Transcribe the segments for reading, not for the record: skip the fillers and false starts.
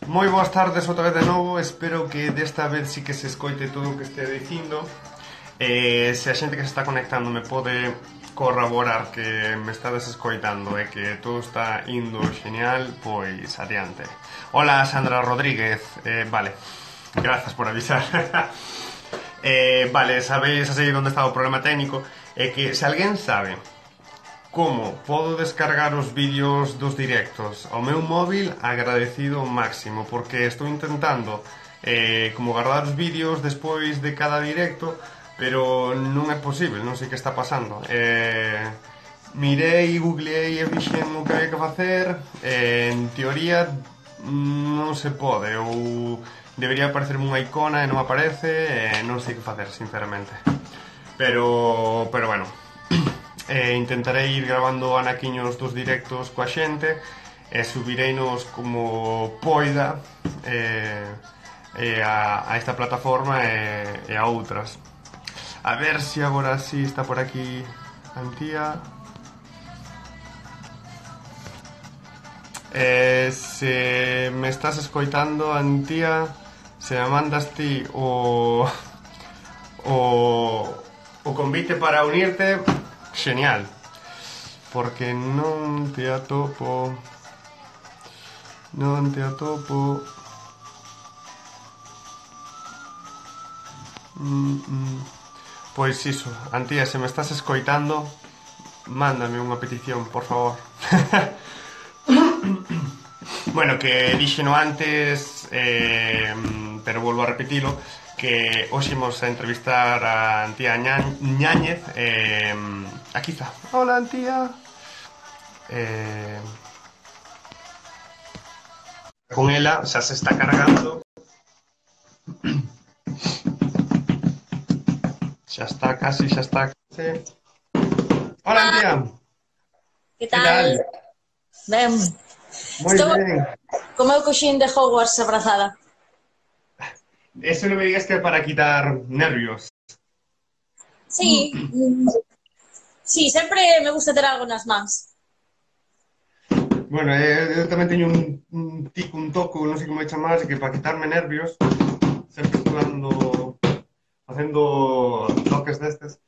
Moi boas tardes outra vez de novo. Espero que desta vez sí que se escoite todo o que este dicindo. Se a xente que se está conectando me pode corroborar que me estades escoitando e que todo está indo genial, pois adiante. Hola, Sandra Rodríguez. Vale, grazas por avisar. Vale, sabéis así onde está o problema técnico. É que se alguén sabe como podo descargar os vídeos dos directos ao meu móvil, agradecido ao máximo, porque estou intentando como guardar os vídeos despois de cada directo, pero non é posible, non sei que está pasando. Mirei, googleei e vixen o que había que facer, en teoría non se pode, ou debería aparecerme unha icona e non aparece, non sei que facer, sinceramente. Pero bueno, intentarei ir grabando anaquiños dos directos coa xente e subireinos como poida a esta plataforma e a outras. A ver se agora sí está por aquí Antía. Se me estás escoitando, Antía, se me mandas ti o convite para unirte, genial, porque non te atopo. Pois iso, Antía, se me estás escoitando, mándame unha petición, por favor. Bueno, que dixeno antes, pero volvo a repetilo, que hoxe imos a entrevistar a Antía Ñáñez. Aquí está. Hola, Antía. Con ela xa se está cargando. Xa está casi. Hola, Antía. Que tal? Ben. Moi ben. Como eu coxín de Hogwarts abrazada. Eso non me digas que é para quitar nervios. Sí, sí, sempre me gusta ter algo nas mans. Bueno, eu tamén teño un toco, non sei como é chamar, que para quitarme nervios sempre estou facendo toques destes.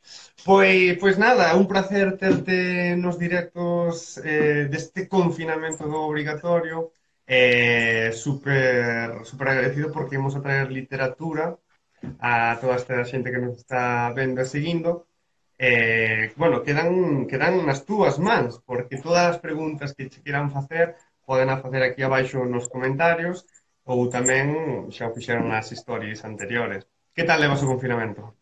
Pois nada, un placer terte nos directos deste confinamento obrigatorio. Super agradecido porque imos a traer literatura a toda esta xente que nos está vendo e seguindo. Bueno, quedan nas túas mans, porque todas as preguntas que che quieran facer poden a facer aquí abaixo nos comentarios ou tamén xa o fixeron nas stories anteriores. Que tal levas o confinamento?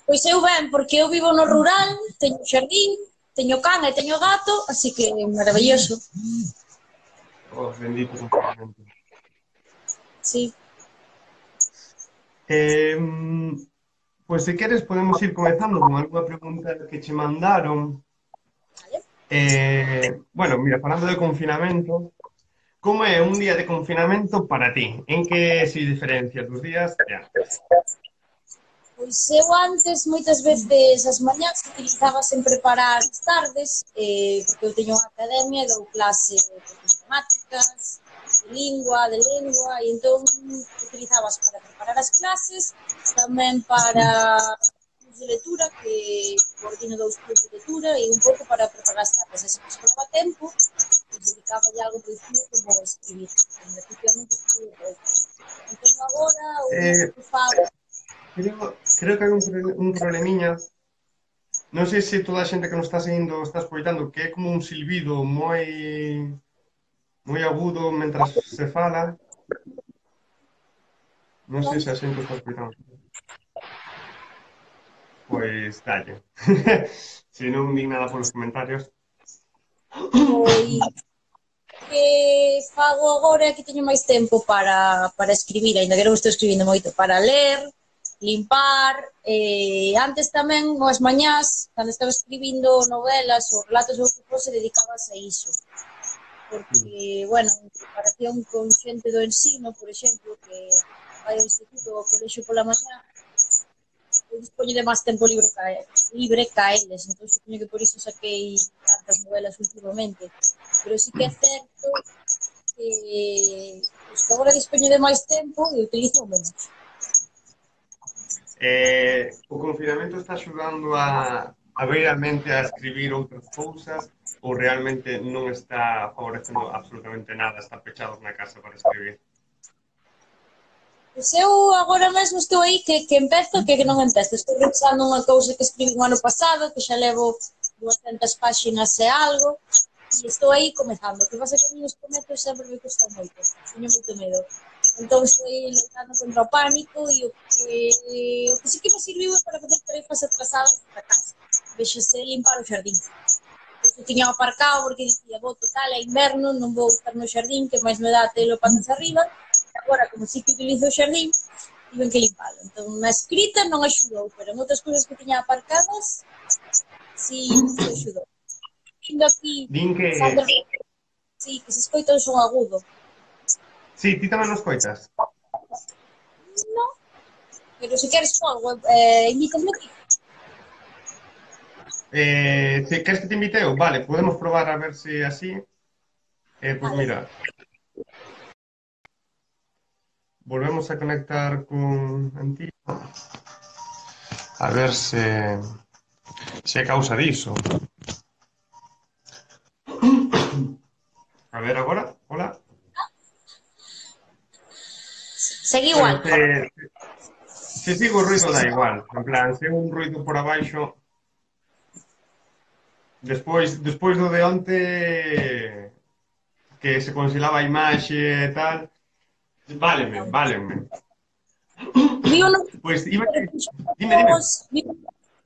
Pois eu ben, porque eu vivo no rural, teño xardín, teño can e teño gato, así que maravilloso. Oh, bendito confinamento. Sí. Pois se queres podemos ir comezando con algunha pregunta que che mandaron. Bueno, mira, falando de confinamento, como é un día de confinamento para ti? En que se diferencia dos días de antes? Pois eu antes, moitas veces, as mañás utilizaba sempre para as tardes, porque eu teño unha academia e dou clase de matemáticas, de lengua, e entón utilizabas para preparar as clases, tamén para de lectura, que coordino 2 clubes de lectura, e un pouco para preparar as tardes. E se me sobraba tempo, pues dedicaba ya algo preciso como escribir. Efectivamente, escribir pouco. Entón agora, o que fago... Creo que hai un problemiña. Non sei se toda a xente que nos está seguindo está escoitando, que é como un silbido moi agudo mentras se fala. Non sei se a xente está escoitando. Pois dalle. Se non di nada polos comentarios. Pois que fago agora é que teño máis tempo para escribir, ainda que non estou escribindo moito, para ler, limpar, antes tamén, as mañás, cando estaba escribindo novelas ou relatos ou que fose, dedicabas a iso. Porque, bueno, en comparación con xente do ensino, por exemplo, que vai ao instituto ou ao colexio pola mañá, eu dispoño de máis tempo libre ca eles, entón supoño que por iso saquei tantas novelas últimamente. Pero sí que é certo que os Agora dispoño de máis tempo e utilizo menos. O confinamento está axudando a ver a mente a escribir outras cousas ou realmente non está favorecendo absolutamente nada, está pechados na casa para escribir? Pois eu agora mesmo estou aí que empezo que non empezo. Estou revisando unha cousa que escribí o ano pasado, que xa levo 200 páxinas e algo, e estou aí comezando. O que pasa é que a mí os cometos sempre me custa moito, teño moito medo. Entón estou aí lutando contra o pánico e o que sí que me serviu é para fazer tarefas atrasadas para casa. Vexase limpar o xardín. Eu tiña aparcado porque dicía, vou total, é inverno, non vou estar no xardín, que máis me dá telo patas arriba. Agora, como sí que utilizo o xardín, tiven que limpalo. Entón, na escrita non axudou, pero en outras cousas que tiña aparcadas, sí axudou. Vindo aquí, Din que... Sandra, sí, que se escoita un son agudo. Sí, ti tamén nos coitas? Non, pero se queres algo, invítame aquí. Si queres que te invite eu? Vale, podemos probar a ver se así. Pois Vale. mira, volvemos a conectar con Antigo. A ver se é causa diso. A ver agora, hola. Segue igual. Bueno, se sigo o ruido da igual. En plan, se un ruido por abaixo... Despois do de onte que se congelaba a imaxe e tal, válenme. Vivo no, Pois iba que... Dime.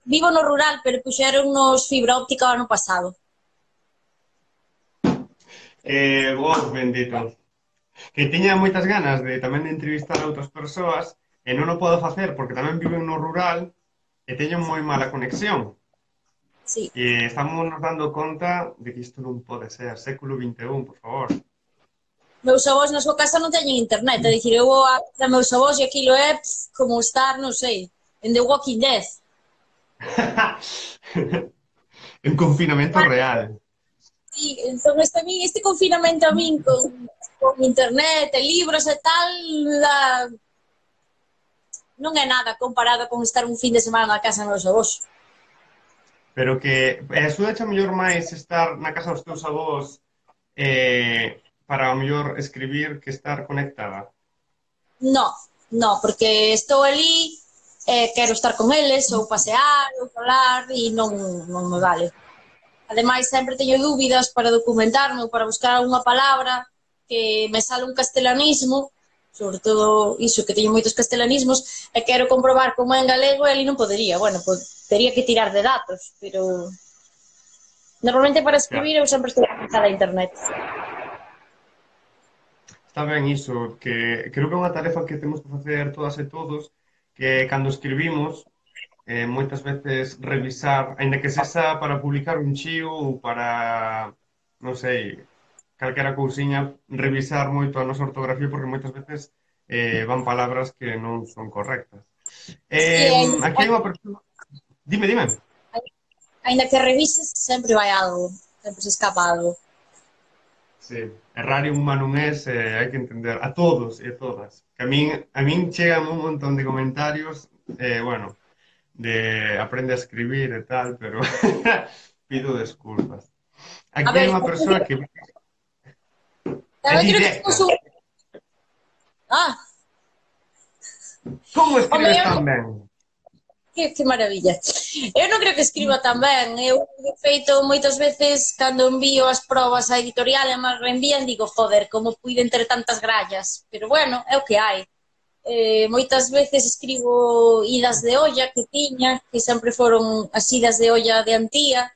Vivo no rural, pero puxeron nos fibra óptica o ano pasado. Vos, bendito. Que tiña moitas ganas de tamén de entrevistar a outras persoas e non o podo facer porque tamén viven no rural e teño moi mala conexión. Sí. E estamos nos dando conta de que isto non pode ser século XXI, por favor. Meus avós na súa casa non teñen internet, é dicir, eu vou a meus avós e aquilo é como estar, non sei, en The Walking Dead. En confinamento real. Sí, entón este confinamento a min con internet e libros e tal, non é nada comparado con estar un fin de semana na casa dos meus avós. Pero que axudache a mellor máis estar na casa dos teus avós para a mellor escribir que estar conectada? No, porque estou ali, quero estar con eles, ou pasear, ou falar, e non me vale. Ademais, sempre teño dúbidas para documentarme ou para buscar unha palabra que me sale un castelanismo, sobre todo iso, que teño moitos castelanismos, e quero comprobar como é en galego e ali non podería. Bueno, pues, tería que tirar de datos, pero normalmente para escribir eu sempre estou conectada a internet. Está ben iso, que creo que é unha tarefa que temos que facer todas e todos, que cando escribimos, moitas veces revisar, aínda que sexa para publicar un chío ou para, non sei, calquera cousiña, revisar moito a nosa ortografía porque moitas veces van palabras que non son correctas. Aquí hai unha persona... Dime. Aínda que revises, sempre vai algo, sempre se escapa algo. Sí, errar humano non é, hai que entender a todos e a todas. Que a min chegan un montón de comentarios, bueno, de aprende a escribir e tal, pero pido desculpas. Aquí hai unha persoa que é directa. Como escribes tan ben? Que maravilla. Eu non creo que escriba tan ben. Eu, de feito, moitas veces, cando envío as probas á editorial e máis reenvían, digo, joder, como puiden ter tantas grallas. Pero bueno, é o que hai. Moitas veces escribo idas de olla que tiña, que sempre foron as idas de olla de Antía,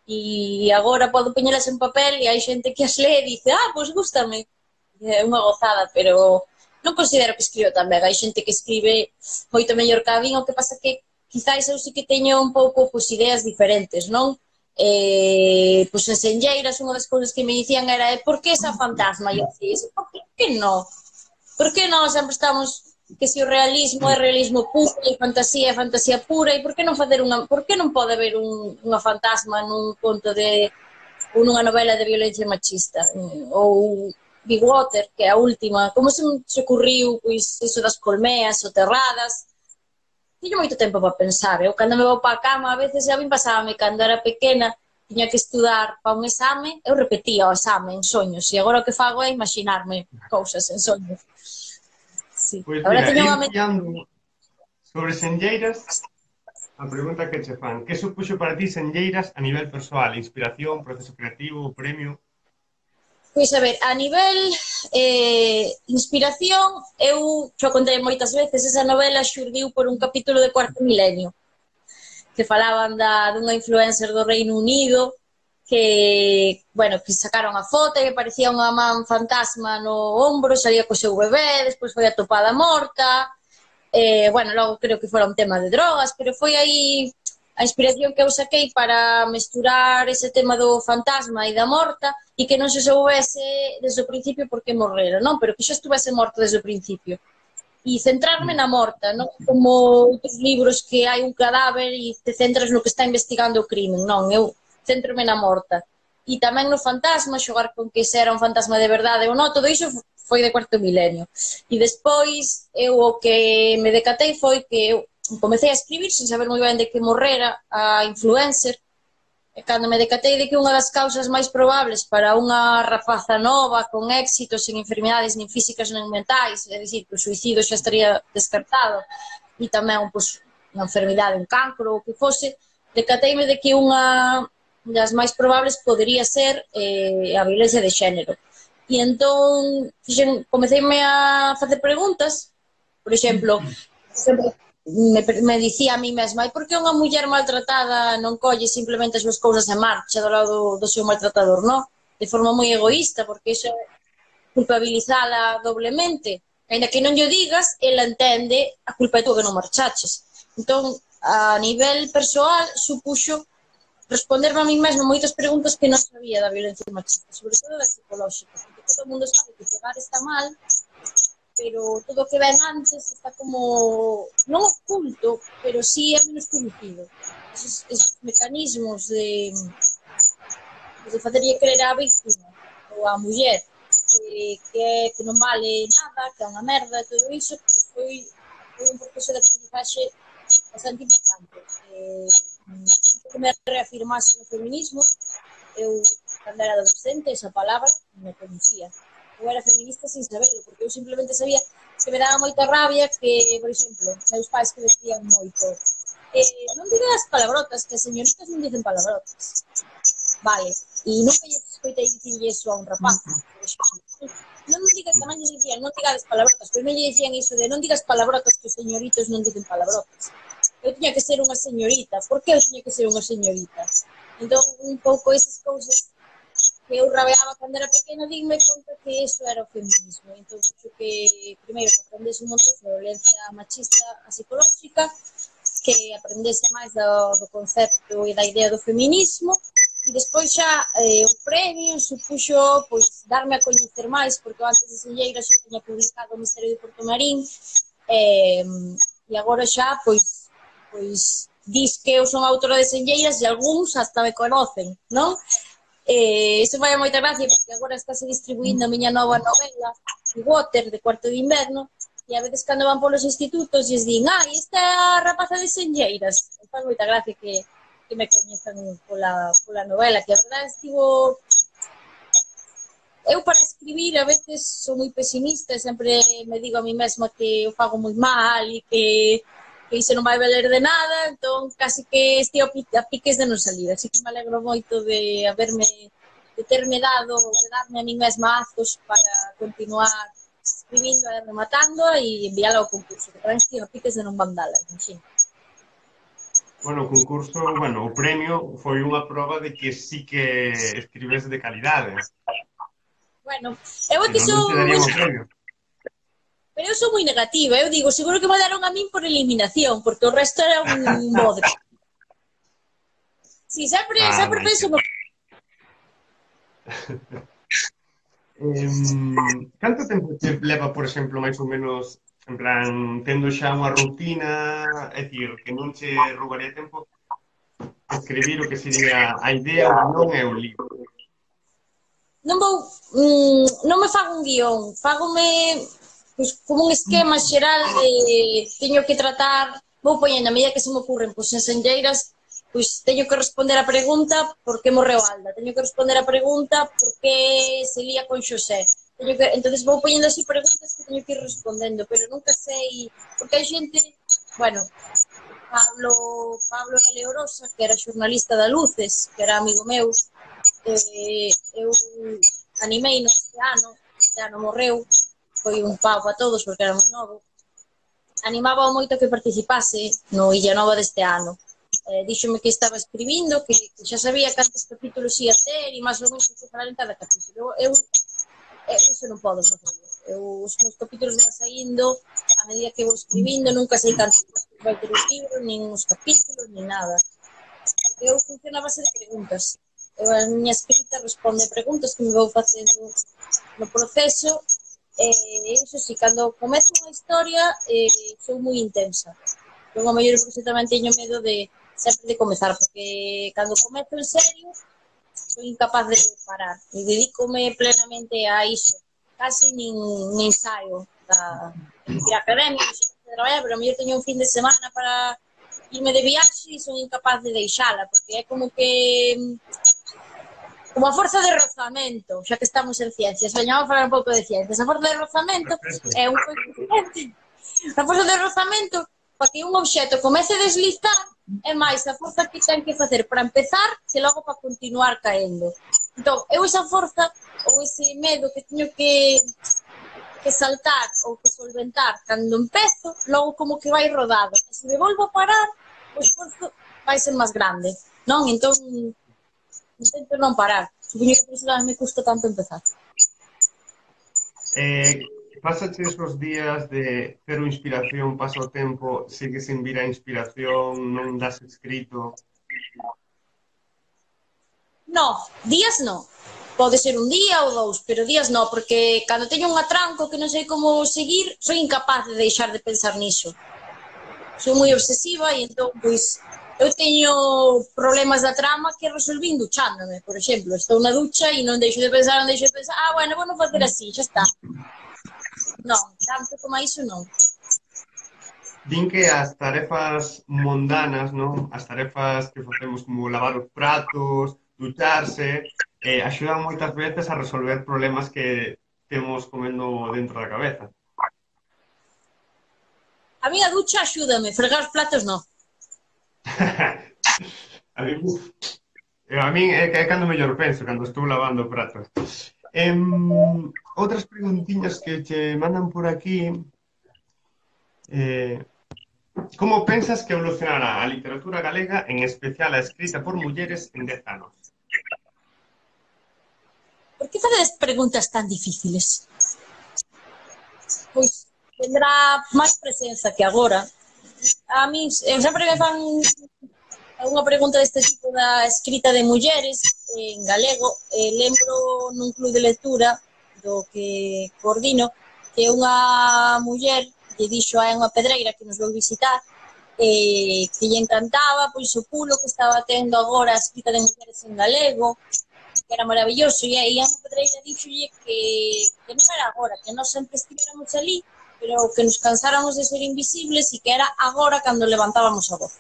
e agora podo poñelas en papel e hai xente que as lee e dice, pois gústame. É unha gozada, pero non considero que escribo tan ben. Hai xente que escribe moito mellor que a min, o que pasa que quizáis eu sí que teño un pouco ideas diferentes, non? Pois en Senlleiras unha das cousas que me dicían era por que esa fantasma? E eu dicía, por que non? Por que non sempre estamos que se o realismo é realismo puro e fantasía é fantasía pura e por que non facer por que non pode haber unha fantasma nun conto ou nunha novela de violencia machista ou Big Water, que é a última, como se me ocurriu, pois, iso das colmeas soterradas, tiño moito tempo para pensar. Eu, cando me vou para a cama, a veces a min pasábame cando era pequena, tiña que estudar para un exame, eu repetía o exame en soños, e agora o que fago é imaginarme cousas en soños. Sí. Pois Agora mira, teño unha ir mente. pillando sobre Senlleiras, a pregunta que che fan. Que supuxo para ti Senlleiras a nivel persoal? Inspiración, proceso creativo, premio? Pois a ver, a nivel inspiración, eu xo contei moitas veces, esa novela xurdiu por un capítulo de Cuarto Milenio, que falaban dunha influencer do Reino Unido que, bueno, que sacaron a foto e parecía unha man fantasma no ombro, salía co seu bebé, despois foi atopada morta, bueno, logo creo que fora un tema de drogas, pero foi aí a inspiración que eu saquei para mesturar ese tema do fantasma e da morta e que non se soubese desde o principio por que morrera, non? Pero que xa estuvese morto desde o principio. E centrarme na morta, non como outros libros que hai un cadáver e te centras no que está investigando o crimen, non, eu centrome na morta. E tamén no fantasma, xogar con que se era un fantasma de verdade ou non, todo iso foi de Cuarto Milenio. E despois, eu o que me decatei foi que eu comecei a escribir sen saber moi ben de que morrera a influencer, e cando me decatei de que unha das causas máis probables para unha rapaza nova, con éxito, sen enfermidades nin físicas nin mentais, é dicir, que o suicidio xa estaría descartado, e tamén pois, unha enfermidade, un cancro, ou que fose, decateime de que unha das máis probables podería ser a violencia de xénero. E entón, comeceime a facer preguntas, por exemplo, me dicía a mí mesma, e por que unha muller maltratada non colle simplemente as súas cousas e marcha do lado do seu maltratador, non? De forma moi egoísta, porque iso é culpabilizala doblemente. Ainda que non lle digas, ela entende a culpa é tú que non marchaches. Entón, a nivel persoal, supuxo responderme a mí mesma moitas preguntas que non sabía da violencia machista, sobre todo da psicolóxica, porque todo o mundo sabe que pegar está mal, pero todo o que ven antes está como non oculto, pero sí é menos conocido. Esos mecanismos de facerlle creer á víctima ou á muller que non vale nada, que é unha merda, todo iso, pues foi un proceso de aprendizaxe bastante importante. Que me reafirmase no feminismo, eu, cando era adolescente, esa palabra me conocía. Eu era feminista sin saberlo, porque eu simplemente sabía que me daba moita rabia que, por exemplo, meus pais que decían moito non digas palabrotas, que as señoritas non dicen palabrotas. Vale, e nunca lle escoitei dicirlle iso a un rapaz, por exemplo. Non digas, tamén lle dicían, non digas palabrotas, pero non lle dicían iso de non digas palabrotas, que os señoritos non dicen palabrotas. Eu tiña que ser unha señorita. Por que eu tiña que ser unha señorita? Entón, un pouco esas cousas que eu rabeaba cando era pequena, dime conta que iso era o feminismo. Entón, que primeiro que aprendese un montón de violencia machista a psicolóxica, que aprendese máis do concepto e da idea do feminismo, e despois xa o premio supuxo pois, darme a coñecer máis, porque antes de Senlleiras xa tiña publicado o Misterio de Porto Marín, e agora xa pois dis que eu son autora de Senlleiras e algúns hasta me conocen, non? Iso vai a moita gracia, porque agora estáse distribuindo a miña nova novela, Water, de Cuarto de Inverno, e a veces cando van polos institutos e din, esta é a rapaza de Senlleiras. Faz moita gracia que me coñezan pola novela, que a verdade estivo... Eu para escribir a veces sou moi pesimista e sempre me digo a mí mesma que eu fago moi mal e que iso non vai valer de nada, entón casi que estou a piques de non salir, así que me alegro moito de terme dado, de darme a mí mesma azos para continuar escribindo e rematando e enviála ao concurso, que tamén estou a piques de non mandala, imagino. Bueno, o concurso, bueno, o premio foi unha proba de que sí que escribes de calidade. Bueno, eu é que non te darían o premio. Pero eu sou moi negativa, eu digo, seguro que me daron a min por eliminación, porque o resto era un bodre. Si, sempre penso no... Canto tempo te leva, por exemplo, máis ou menos, en plan, tendo xa unha rutina, é dicir, que non che roubaría tempo escribir o que sería a idea, o guión e o libro? non vou, non me fago un guión, fagome pues, como un esquema xeral de teño que tratar, vou poñendo a medida que se me ocurren, pois en senlleiras, pois teño que responder a pregunta por que morreu Alda, teño que responder a pregunta por que se lía con Xosé. Entonces vou poñendo así preguntas que teño que ir respondendo, pero nunca sei, porque hai xente, bueno, Pablo Galeorosa, que era xornalista da Luces, que era amigo meu, eu animei no este ano morreu, foi un pau a todos porque era moi novo, animaba moito que participase no Illa Nova deste ano. Díxome que estaba escribindo, que xa sabía cantos capítulos ia ter e máis ou menos que falar en cada capítulo. Eu iso non podo facer. Os meus capítulos van saindo a medida que vou escribindo, nunca sei cantos vai ter o libro, nin os capítulos, nin nada. Eu funciono a base de preguntas. Eu a miña escrita responde preguntas que me vou facendo no proceso. Iso si, cando comezo unha historia sou moi intensa. Eu a maior por tamén teño medo de sempre de comezar, porque cando comezo en serio sou incapaz de parar e dedícome plenamente a iso. Casi nin saio da ir á academia, de traballar, pero a mellor teño un fin de semana para irme de viaxe e son incapaz de deixala, porque é como que como a forza de rozamento, xa que estamos en ciencias, veñamos a falar un pouco de ciencias. A forza de rozamento é un coeficiente. A forza de rozamento, para que un obxecto comece a deslizar, é máis a forza que ten que facer para empezar que logo para continuar caendo. Entón, eu esa forza ou ese medo que teño que saltar ou que solventar cando empezo, logo como que vai rodado. E se me volvo a parar, o esforzo vai ser máis grande, non? Entón, intento non parar. Supoño que por iso me custa tanto empezar. Pásache esos días de cero inspiración, pasa o tempo, sigues sin vir a inspiración, non das escrito? No, días no. Pode ser un día ou dous, pero días no, porque cando teño un atranco que non sei como seguir, soy incapaz de deixar de pensar niso. Sou moi obsesiva e entón, pois, eu teño problemas da trama que resolvín duchándome, por exemplo. Estou na ducha e non deixo de pensar, bueno, vou non facer así, xa está. Non, tanto como iso non. Din que as tarefas mundanas, non? As tarefas que facemos como lavar os pratos, ducharse, axudan moitas veces a resolver problemas que temos comendo dentro da cabeza. A miña ducha axúdame, fregar os platos non. A mí, a min é cando mellor penso, cando estou lavando pratos. Outras preguntiñas que che mandan por aquí. Como pensas que evolucionará a literatura galega, en especial a escrita por mulleres, en 10 anos? Por que facedes preguntas tan difíciles? Pois tendrá máis presenza que agora. A min sempre me fan unha pregunta deste tipo da escrita de mulleres en galego. Lembro nun club de lectura do que coordino que unha muller lle dixo a unha pedreira que nos veu visitar que lle encantaba pois o pulo que estaba tendo agora a escrita de mulleres en galego, que era maravilloso, e a pedreira dixolle que non era agora, que nós sempre estivéramos ali, pero que nos cansáramos de ser invisibles e que era agora cando levantábamos a voz.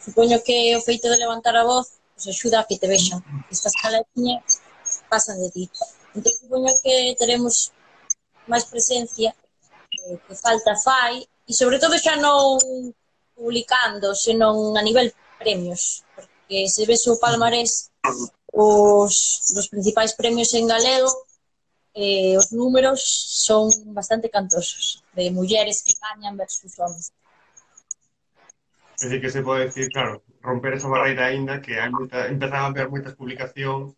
Supoño que o feito de levantar a voz pues, axuda a que te vexan. Estas caletiñas pasan de ti. Entón, supoño que teremos máis presencia que falta fai e sobre todo xa non publicando, senón a nivel premios, porque se ves o palmarés os principais premios en galego os números son bastante cantosos de mulleres que gañan versus homens. É dicir, que se pode decir, claro, romper esa barreira aínda que hai empezan a haber moitas publicacións,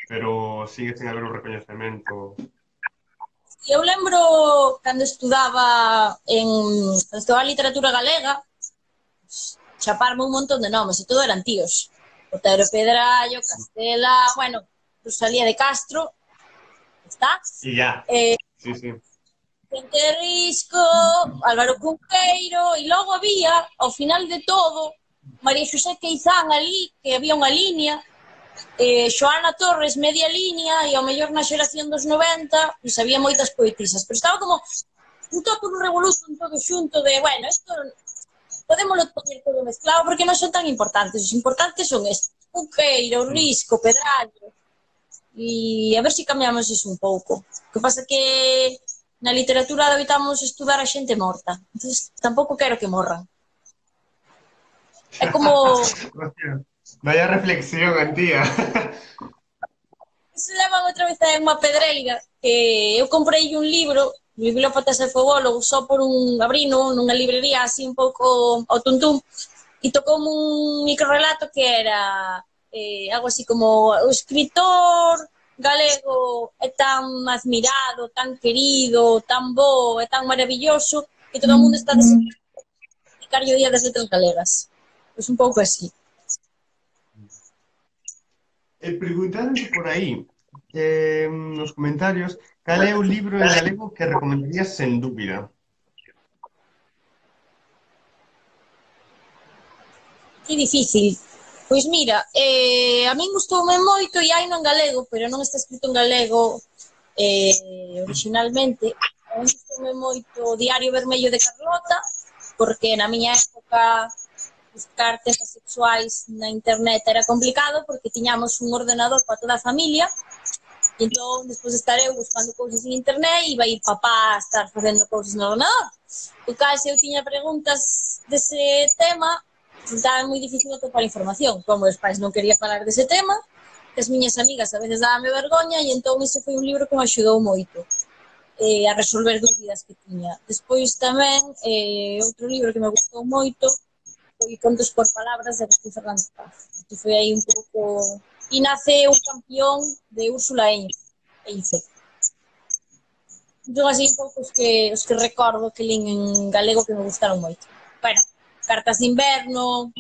pero sigue sen haber un recoñecemento. Eu lembro cando estudaba literatura galega, chaparme un montón de nomes, e todo eran tíos. Otero Pedrallo, Castela, bueno, Rosalía de Castro, está? E ya, sí. Vicente Risco, Álvaro Cunqueiro, e logo había, ao final de todo, María Xosé Queizán ali, que había unha línea, Xoana Torres, media línea, e ao mellor na xeración dos 90 pois había moitas poetisas, pero estaba como un topo un revoluto, un todo xunto de, bueno, isto podémoslo poñer todo mezclado porque non son tan importantes, os importantes son estes, Cunqueiro, Risco, Pedrallo, e a ver se cambiamos iso un pouco. O que pasa que na literatura adoitamos estudar a xente morta, entonces tampouco quero que morran. É como Hostia, vaya reflexión, Antía. se levan outra vez a unha pedreira que eu comprei un libro, Bibliópatas e Fogólogos, só por un abrino nunha librería así un pouco ao tuntún, e tocoume un microrelato que era algo así como o escritor galego é tan admirado, tan querido, tan bo, é tan maravilloso que todo o mundo está desexando o Día das Letras Galegas. Pois un pouco así. Preguntándote por aí, nos comentarios, cal é o libro en galego que recomendarías sen dúbida? Que difícil. Pois mira, a min gustoume moito e hai no en galego, pero non está escrito en galego originalmente. A min gustoume moito o Diario Vermello de Carlota, porque na miña época buscar temas sexuais na internet era complicado porque tiñamos un ordenador para toda a familia e entón, despois de estar eu buscando cousas en internet, iba a ir papá a estar facendo cousas no ordenador. O caso, se eu tiña preguntas dese tema, resultaba moi difícil atopar información. Como os pais non quería falar dese tema, as miñas amigas a veces dábame vergoña e entón ese foi un libro que me axudou moito a resolver dúbidas que tiña. Despois tamén, outro libro que me gustou moito foi Contos por Palabras de Agustín Fernández Paz. Que foi aí un pouco... E nace un campeón de Úrsula Heinze. Entón, así un pouco os que recordo que lín en galego que me gustaron moito. Bueno, Cartas de Inverno,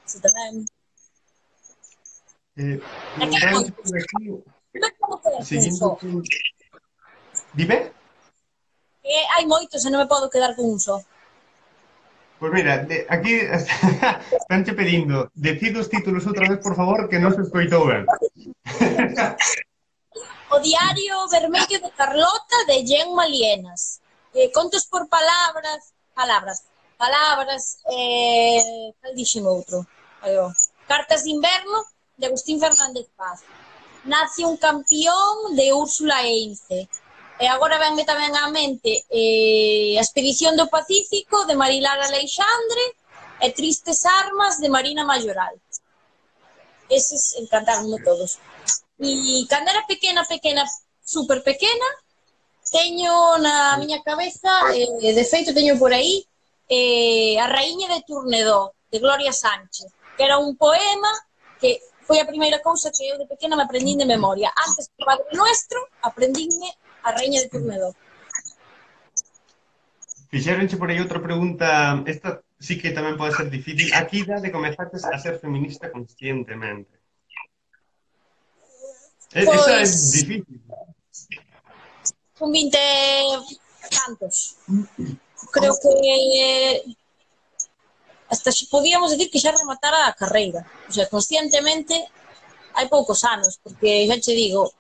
se tamén. Preguntándote por aquí, seguindo con... Dime? Hai moitos e non me podo quedar con un só. Pois mira, aquí estánche pedindo, decide os títulos outra vez, por favor, que non se escoitou ben. O Diario Vermello de Carlota, de Gemma Lienas. Contos por palabras, cal dixen outro? Cartas de Inverno, de Agustín Fernández Paz. Nace un campeón, de Úrsula Heinze. E agora venme tamén á mente a Expedición do Pacífico, de Marilar Aleixandre, e Tristes Armas, de Marina Mayoral. Eses encantaronme todos. E cando era pequena, super pequena, teño na miña cabeza, de feito teño por aí, A Raíña de Turnedó, de Gloria Sánchez, que era un poema que foi a primeira cousa que eu de pequena me aprendín de memoria. Antes do Padre Nuestro, aprendínme A Raíña de Turnedó. Fixéronche por aí outra pregunta, esta sí que tamén pode ser difícil. A que idade comezaste a ser feminista conscientemente? Esa é difícil. Con 20 tantos. Creo que hasta podíamos decir que xa rematara a carreira. O sea, conscientemente hai poucos anos, porque xa che digo,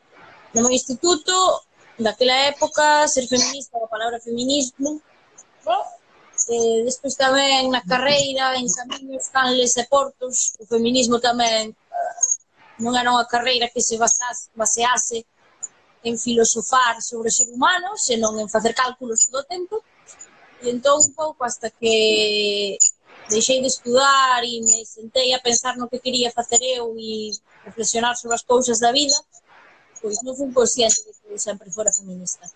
no meu instituto, daquela época, ser feminista, a palabra feminismo, despois tamén na carreira, en camiños, canles e portos, o feminismo tamén non era unha carreira que se basease en filosofar sobre o ser humano, senón en facer cálculos todo o tempo. E entón, un pouco, hasta que deixei de estudar e me sentei a pensar no que quería facer eu e reflexionar sobre as cousas da vida, pois non fui consciente de que eu sempre fora feminista.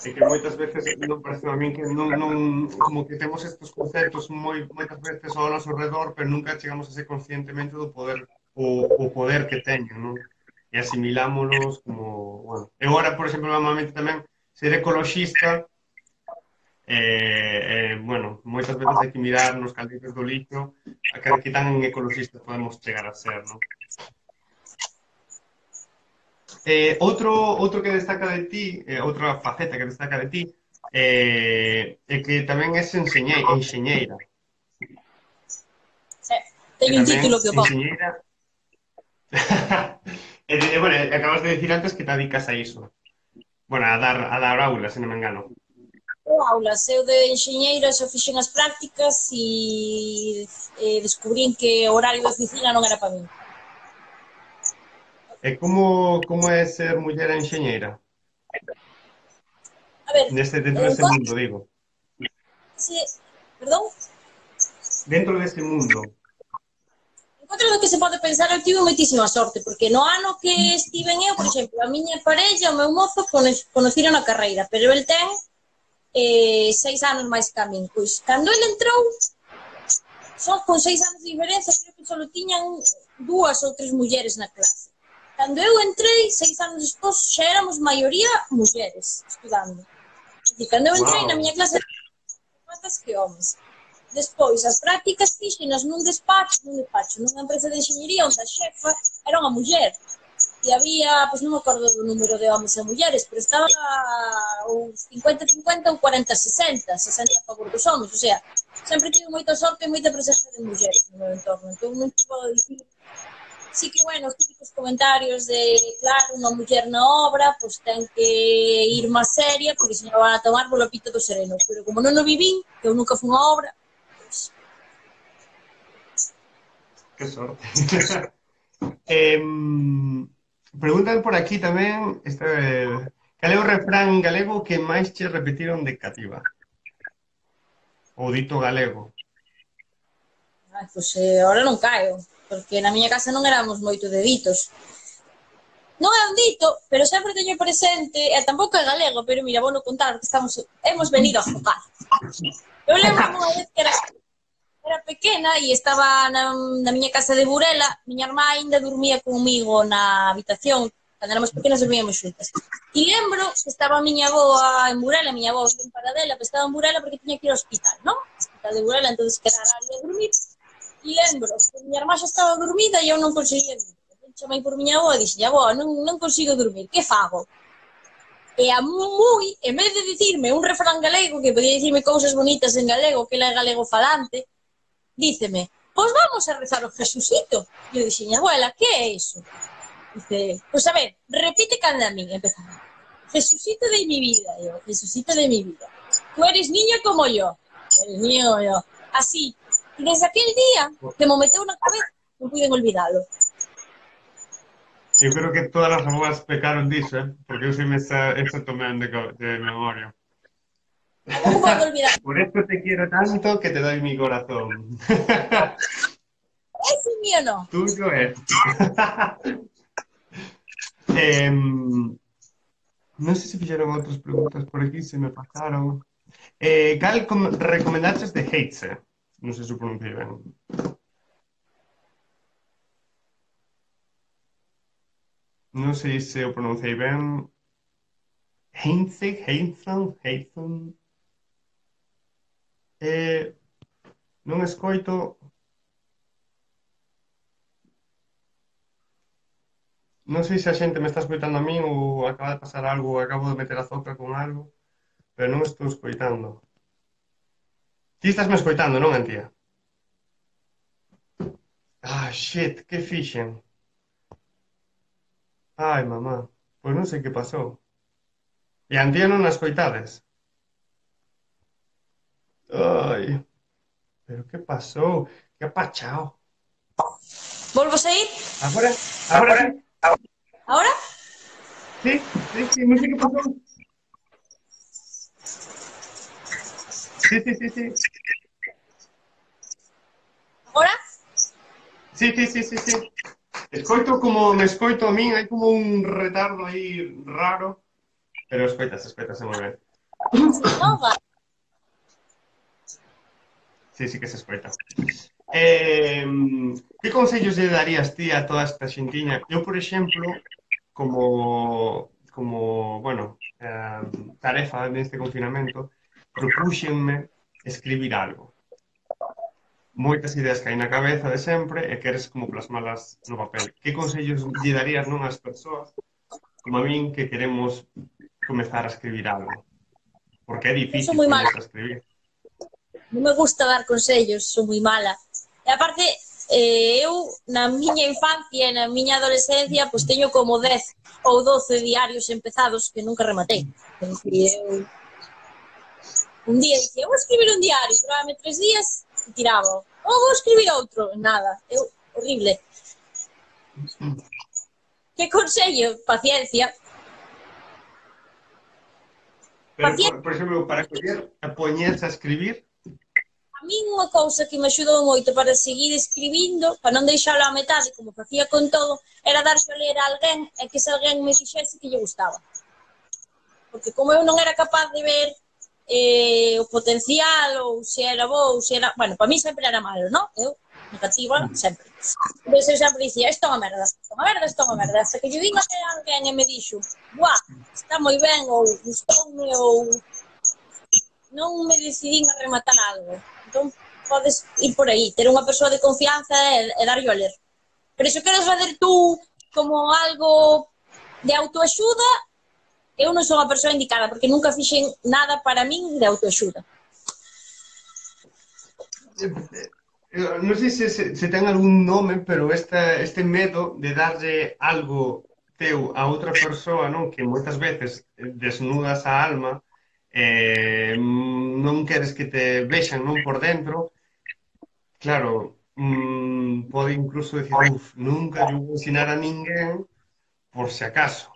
É que moitas veces non parece a min que non como que temos estes conceptos moitas veces ao noso redor, pero nunca chegamos a ser conscientemente do poder o poder que teñen, non? E asimilámonos como, bueno, eu agora, por exemplo, normalmente tamén ser ecoloxista, bueno, moitas veces hai que mirar nos calditos do lixo a que tan ecoloxistas podemos chegar a ser, non? Outro que destaca de ti, outra faceta que destaca de ti, é que tamén és enxeñeira. E Teño un tamén, título que o pon. enxeñeira... bueno, acabas de decir antes que te dedicas a iso. Bueno, a dar aulas, se non me engano. Aulas, eu de enxeñeira só fixen as prácticas descubrín que o horario de oficina non era para min. E como é ser muller enxeñeira? A ver, Dentro deste mundo, digo. se, perdón, Dentro deste mundo. encontro do que se pode pensar, eu tive moitísima sorte, porque no ano que estiven eu, por exemplo, a miña parella, o meu mozo, conociron a carreira, pero el ten 6 anos máis que a min. Pois, cando ele entrou, só con 6 anos de diferenza, creo que só tiñan 2 ou 3 mulleres na clase. Cando eu entrei, 6 anos despois, xa éramos maioría mulleres estudando. E cando eu entrei na miña Wow. clase, máis que homes. Despois, as prácticas fixenas nunha despacho, nunha empresa de enxeñería onde a xefa era unha muller. E había, pois non me acordo do número de homes e mulleres, pero estaba uns 50-50 ou 40-60, 60 a favor dos homes, o sea, sempre tive moita sorte e moita presencia de mulleres no meu entorno, entón non te podo dicir. Sí que, bueno, os típicos comentarios de, claro, unha muller na obra, pois ten que ir máis seria, porque se non van a tomar polo pito do sereno, pero como non o vivín, que eu nunca fui a obra, pois... Que sorte. Preguntan por aquí tamén cal é o refrán galego que máis che repetiron de cativa? O dito galego. Pois ahora non caio, porque na miña casa non éramos moito deditos. Non é un dito, pero sempre teño presente, e tampouco é galego, pero mira, vou no contar, que hemos venido a focar. Eu lembro unha vez que era pequena e estaba na miña casa de Burela, miña irmá ainda dormía comigo na habitación, cando éramos pequenas dormíamos xuntas. E lembro que estaba a miña avoa en Burela, a miña avoa en Paradela, pero estaba en Burela porque tiña que ir ao hospital, non? O hospital de Burela, entón quedara ali a dormir. E lembro que miña irmá xa estaba dormida e eu non conseguía dormir. Chamei por miña avoa e dixen, avoa, non consigo dormir, que fago? E a moi, en vez de dicirme un refrán galego, que podía dicirme cousas bonitas en galego, que ela é galego falante, díceme, pois vamos a rezar o Jesucito. E eu dixen, abuela, que é iso? Dice, pois a ver, repite canda a min, empezaba. Jesucito de mi vida, yo, Jesucito de mi vida. Tú eres niño como yo. Eres niño como yo. Así. E desde aquel día, que me meteu na cabeza, non puiden olvidalo. Eu creo que todas as avoas pecaron diso, porque eu me esa tamén de memoria. Tampouco podo olvidar. Por eso te quiero tanto que te doy mi corazón. Ese mío no. Tuyo es. Non sei se fixeron outras preguntas por aquí, se me pasaron. Cal recomendaches de Heitze? Non sei se o pronunciei ben. Non sei se o pronunciei ben. Heinze, Heithen. Non escoito. Non sei se a xente me está escoitando a min ou acaba de pasar algo, ou acabo de meter a zoca con algo, pero non estou escoitando. Ti estás me escoitando, non, Antía? Ah, shit, que fixen? Ai, mamá, pois non sei que pasou. E a Antía non a escoitades? Ai, pero que pasou? Que ha pachao? Volvo a sair? Agora sí? Ahora? Sí, non sei que pasou. Sí. Ahora? Sí. Escoito como me escoito a min, hai como un retardo aí raro, pero escoitase moi ben. Non va. Sí que se escoita. Que consellos lle darías ti a toda esta xentiña? Eu, por exemplo, bueno, tarefa neste confinamento, propúxenme escribir algo. Moitas ideas que hai na cabeza de sempre e queres como plasmalas no papel. Que consellos lle darías non ás persoas como a min que queremos comezar a escribir algo? Porque é Eu sou difícil moi mala. poñerse a escribir. Non me gusta dar consellos, sou moi mala. E aparte, eu, na miña infancia e na miña adolescencia, pois teño como 10 ou 12 diarios empezados que nunca rematei. Porque eu un día dicía, vou escribir un diario, duraba 3 días e tiraba. Ou vou escribir outro, nada. Eu, horrible. Que consello? Paciencia. Pero, Paciencia. por exemplo, para coller e poñerse a escribir, A min unha cousa que me axudou moito para seguir escribindo, para non deixalo á metade, como facía con todo, era darse a ler a alguén e que ese alguén me dixese que lle gustaba. Porque como eu non era capaz de ver o potencial, ou se era bo, ou se era... Bueno, para mí sempre era malo, non? Eu, negativa, sempre. Entón eu sempre dicía, isto é unha merda, isto é unha merda, isto é unha merda. Hasta que lle vin a alguén e me dixo, buah, está moi ben, ou gustoume, ou non me decidín a rematar algo. Entón, podes ir por aí, ter unha persoa de confianza e darlle a ler. Pero se queres fazer tú como algo de autoaxuda, eu non sou a persoa indicada, porque nunca fixen nada para min de autoaxuda. non sei se ten algún nome, pero este medo de darlle algo teu a outra persoa, non? Que moitas veces desnudas a alma, non queres que te vexan, non, por dentro. Claro, pode incluso decir, nunca lle vou ensinar a ninguén por si acaso,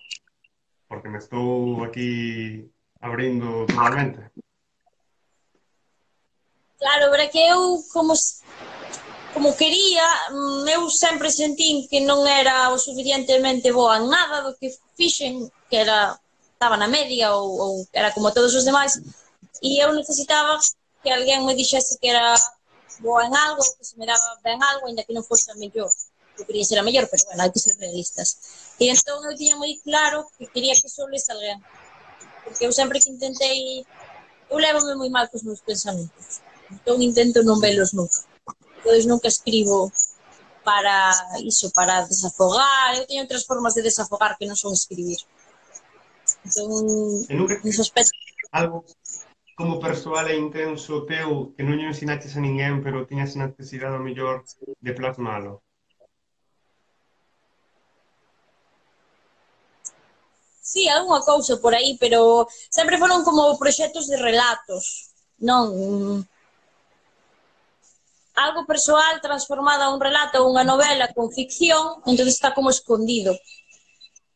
porque me estou aquí abrindo totalmente. Claro, pero que eu, como quería, eu sempre sentín que non era o suficientemente boa en nada do que fixen, que era, estaba na media ou era como todos os demais, e eu necesitaba que alguén me dixese que era boa en algo, que se me daba ben algo, ainda que non fose a mellor. Eu quería ser a mellor, pero bueno, hai que ser realistas. E entón eu tiña moi claro que quería que só lese alguén, porque eu sempre que intentei, eu levome moi mal cos meus pensamentos, entón intento non velos nunca. Entón nunca escribo para iso, para desafogar. Eu teño outras formas de desafogar que non son escribir. Entón, E nunca nese aspecto... algo como persoal e intenso teu que non lle ensinaches a ninguén, pero tiñas necesidade o mellor de plasmalo? Sí, algunha cousa por aí, pero sempre foron como proxectos de relatos, non algo persoal transformado a un relato ou unha novela con ficción, entón está como escondido.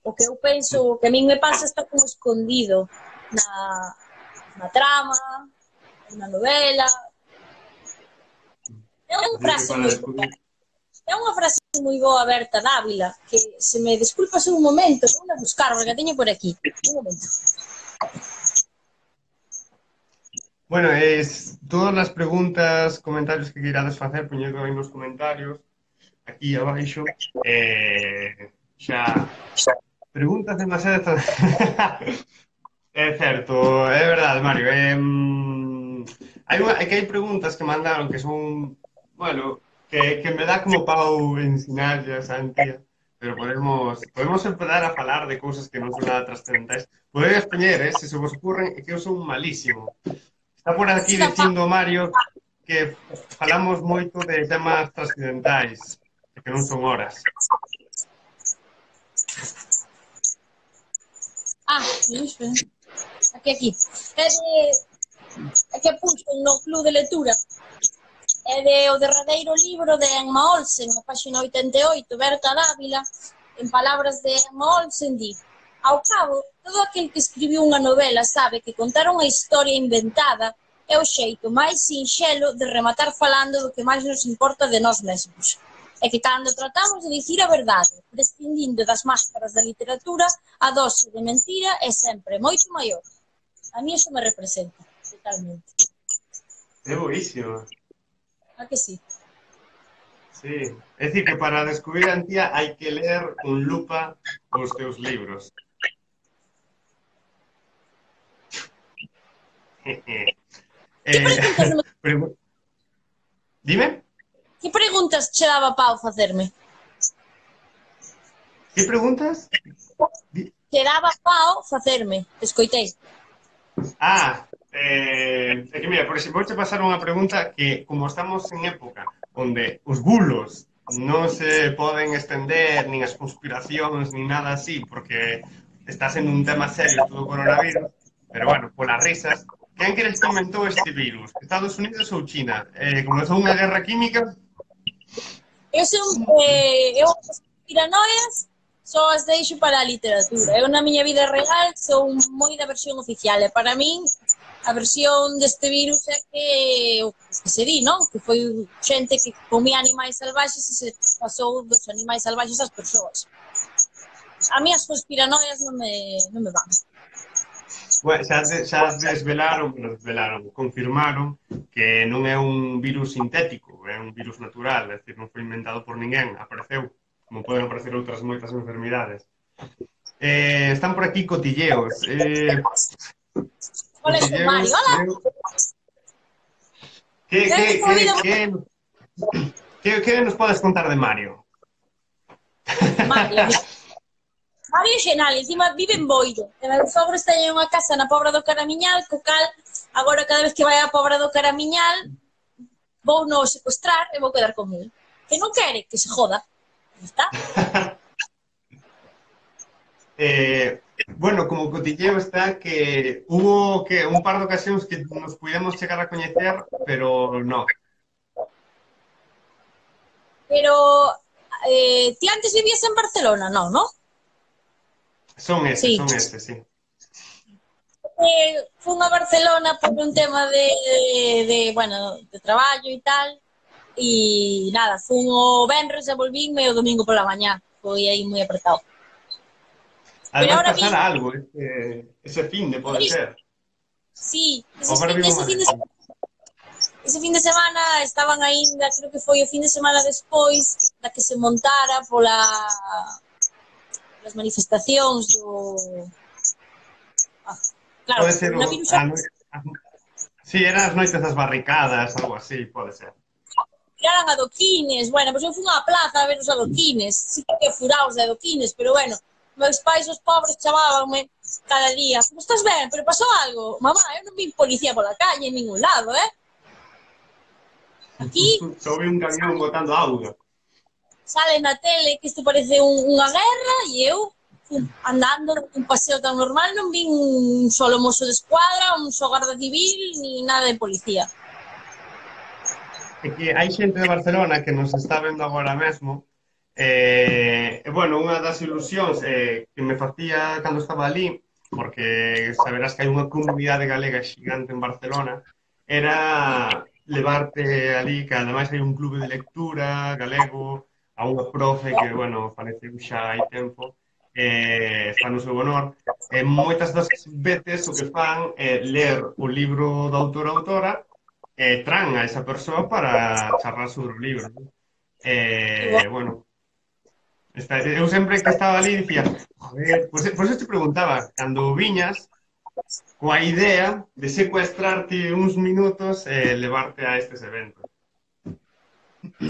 O que eu penso, o que a min me pasa está como escondido na trama, na novela. É unha Así que frase para moi boa. descubrir... É unha frase moi boa, Berta Dávila, que se me desculpas un momento, vou a buscar, porque a teño por aquí. Un momento. Bueno, todas as preguntas, comentarios que queirades facer, poñedo aí nos comentarios, aquí abaixo. Xa, preguntas demasiado... É certo, é verdade, Mario. É que hai preguntas que mandaron que son, bueno, que me dá como pau ensinarllas a Antía, pero podemos empezar a falar de cousas que non son nada trascendentais. Podedes poñer, se se vos ocurren, é que eu son malísimo. Está por aquí dicindo Mario que falamos moito de temas trascendentais, que non son horas. Aquí. É que puxo no club de lectura. É de o derradeiro libro de Emma Olsen, na página 88, Berta Dávila, en palabras de Emma Olsen, di: ao cabo, todo aquel que escribiu unha novela sabe que contar unha historia inventada é o xeito máis sinxelo de rematar falando do que máis nos importa de nós mesmos. É que cando tratamos de dicir a verdade, prescindindo das máscaras da literatura, a dose de mentira é sempre moito maior. A mí iso me representa, totalmente. É boísimo. A que sí? Sí, é dicir que para descubrir a Antía hai que ler con lupa os teus libros. Dime? Que preguntas che daba pau facerme? Que preguntas? Che daba pau facerme, escoitei. É que mira, por exemplo, vou che pasar unha pregunta que, como estamos en época onde os bulos non se poden estender nin as conspiracións nin nada así, porque está sendo un tema serio todo o coronavirus, pero bueno, polas risas, quen crees que inventou este virus? Estados Unidos ou China? Comezou unha guerra química? Eu as piranoias só as deixo para a literatura. Eu na miña vida real son moi da versión oficial e para min a versión deste virus é que o que se di, non? Que foi xente que comía animais salvaxes e se pasou dos animais salvaxes ás persoas. A mí as conspiranoias non me van. Bueno, desvelaron, confirmaron que non é un virus sintético, é un virus natural, é dicir, non foi inventado por ninguén, apareceu, como poden aparecer outras moitas enfermidades. Están por aquí cotilleos. Hola, Mario, hola. Que nos podes contar de Mario? Mario é xenal, encima vive en Boiro. E meus sogros teñen unha casa na Pobra do Caramiñal, co cal, agora cada vez que vai á Pobra do Caramiñal, vou no secuestrar e vou quedar con ele. Que non quere, que se joda. Está? Bueno, como cotilleo está que hubo que un par de ocasións que nos pudemos chegar a coñecer, pero no. Pero ti antes vivías en Barcelona, non, non? Son ese, sí. Fun a Barcelona por un tema bueno, de traballo e tal, e nada, fun o venres e volvínme o domingo pola mañá, foi aí moi apretado. Además pasara algo, ese fin de pode ser. Sí, ese fin de semana estaban aínda, creo que foi o fin de semana despois da que se montara polas manifestacións do... Claro, pode ser sí, eran as noites das barricadas, algo así, pode ser. Tiraran adoquines, bueno, pois eu fui á plaza a ver os adoquines, sí que furaos de adoquines, pero bueno, meus pais, os pobres, chamábanme cada día, como estás ben, pero pasou algo? Mamá, eu non vi policía pola calle en ningún lado, Aquí... Só vi un camión botando auga. Sale na tele que isto parece unha guerra e eu andando un paseo tan normal non vi un solo mozo de escuadra, un só garda civil, ni nada de policía. É que hai xente de Barcelona que nos está vendo agora mesmo. Bueno, unha das ilusións que me facía cando estaba ali, porque saberás que hai unha comunidade galega xigante en Barcelona, era levarte ali, que ademais hai un clube de lectura galego, a unha profe que, bueno, faleceu xa hai tempo, está no seu honor, moitas das veces o que fan é ler o libro do autor ou autora e traen a esa persoa para charlar sobre o libro. Bueno, eu sempre que estaba ali dicía, joder, pois eu te preguntaba, cando viñas, coa idea de secuestrarte uns minutos e levarte a estes eventos.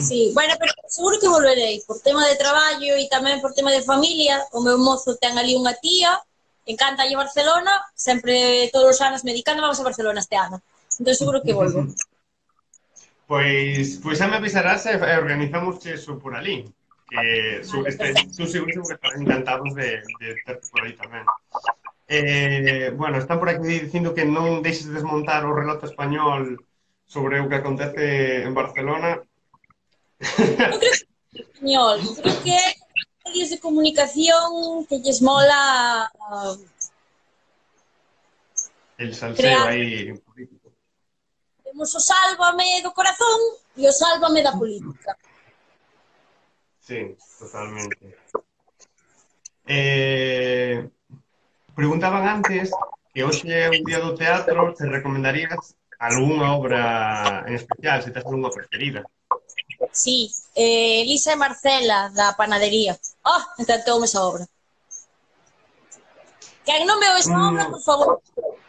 Sí, bueno, pero seguro que volverei, por tema de traballo e tamén por tema de familia. O meu mozo ten ali unha tía, encanta a Barcelona, sempre todos os anos me di, cando vamos a Barcelona este ano? Entón seguro que volvo. Pois xa me avisarás e organizamos eso por ali, que estou seguro que estarán encantados de terte por aí tamén. Bueno, están por aquí dicindo que non deixes de desmontar o relato español sobre o que acontece en Barcelona. Non creo que é español, creo que é medios de comunicación que lles mola el salseo aí político. Temos o sálvame do corazón e o sálvame da política. Sí, totalmente. Preguntaban antes que hoxe é un día do teatro, te recomendarías algunha obra en especial, se tes algunha preferida? Sí, Elisa e Marcela, da panadería. Encantoume esa obra. Quen non veo esa obra, por favor,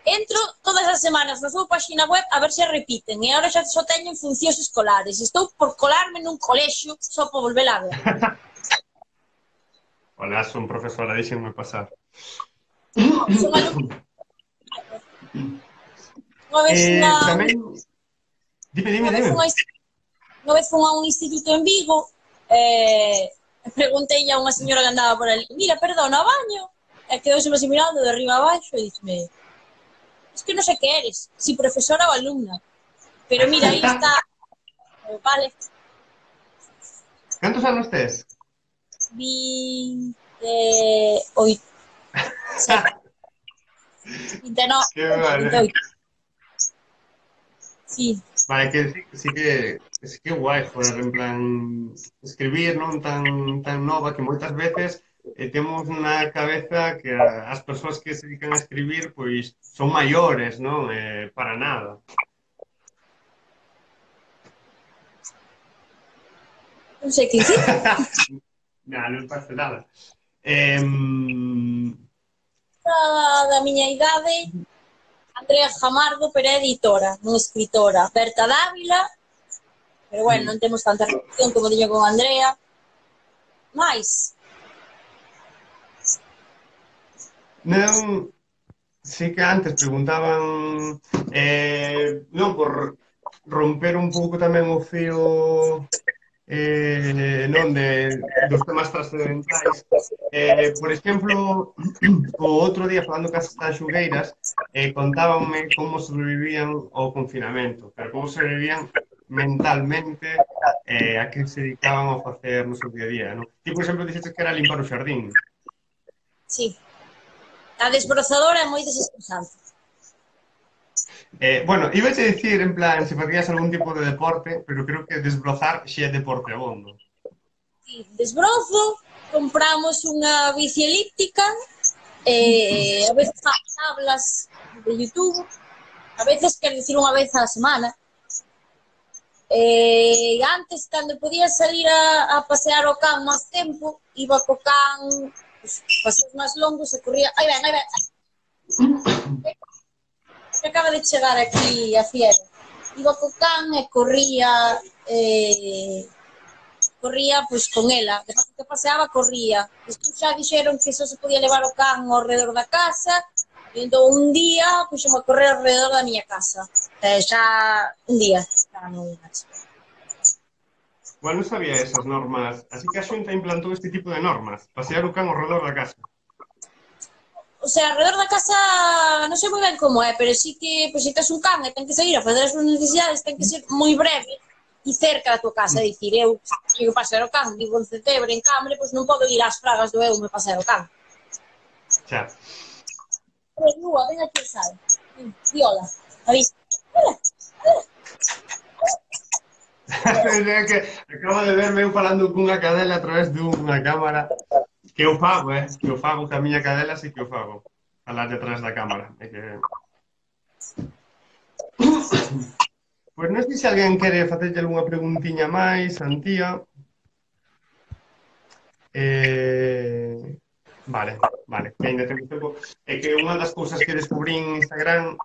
entro todas as semanas na súa página web a ver se repiten, e agora xa só teñen funcións escolares. Estou por colarme nun colexio só por volver a ver. Hola, son profesora, deixenme pasar. Son alumna. Unha vez tamén... Dime. Unha vez fun a un instituto en Vigo Preguntei a unha señora que andaba por ali, mira, perdona, o baño? E quedouse así mirando de arriba a baixo e dixeme, es que non sei que eres, si profesora ou alumna, pero mira, aí está, vale, Cantos anos tes? 28, 29, Que vale. 28, sí. Vale, que sí que guai, joder, en plan, escribir, non tan nova que moitas veces temos na cabeza que as persoas que se dedican a escribir, pois, son maiores, non? Para nada. Non sei que dicir. Nah, non pasa nada. Em, Da miña idade, Andrea Jamardo, pero é editora, non escritora. Berta Dávila, pero bueno, non temos tanta relación como diño con Andrea. Mais, non, sí que antes preguntaban, non, por romper un pouco tamén o fío non dos temas trascendentais. Por exemplo, o outro día falando cas tanxugueiras, contábanme como sobrevivían ao confinamento, pero como sobrevivían mentalmente a que se dedicaban a facer no seu día a día, non? Ti, por exemplo, dixeste que era limpar o xardín. sí, a desbrozadora é moi desestresante. Bueno, iba a dicir en plan se facías algún tipo de deporte, pero creo que desbrozar xe é deporte abondo. Sí, desbrozo, compramos unha bici elíptica, a veces fago tablas de YouTube, a veces quero dicir unha vez á semana. Antes, cando podía salir a pasear o can máis tempo, iba co can, pues, paseos máis longos e corría. Aí ven, que acaba de chegar aquí a Fiera. Iba co can e corría pois con ela. De paso que paseaba, corría. Despois xa dixeron que só se podía levar o can ao redor da casa, e entón un día puxeme a correr ao redor da miña casa. Xa un día, xa non máis. Igual non sabía esas normas. Así que a Xunta implantou este tipo de normas. Pasear o can ao redor da casa. O sea, alrededor da casa non sei moi ben como é, pero sí que, pois, se tes un can e ten que sair a fazer as súas necesidades, ten que ser moi breve e cerca da tua casa. É dicir, eu sigo pasear o can, vivo en Cetebre, en Cambre, pois non podo ir ás Fragas do Eume pasear o can. Xa. Lúa, ven aquí, sal. Viola, avisa. Hola, hola. É que acabo de verme eu falando cunha cadela a través dunha cámara. Que eu fago, que eu fago que a miña cadela sí que eu fago. Falar detrás da cámara. É que... Pois non sei se alguén quere facerlle algunha preguntiña máis, Antía. Vale, que ainda temos tempo. É que unha das cousas que descubrín en Instagram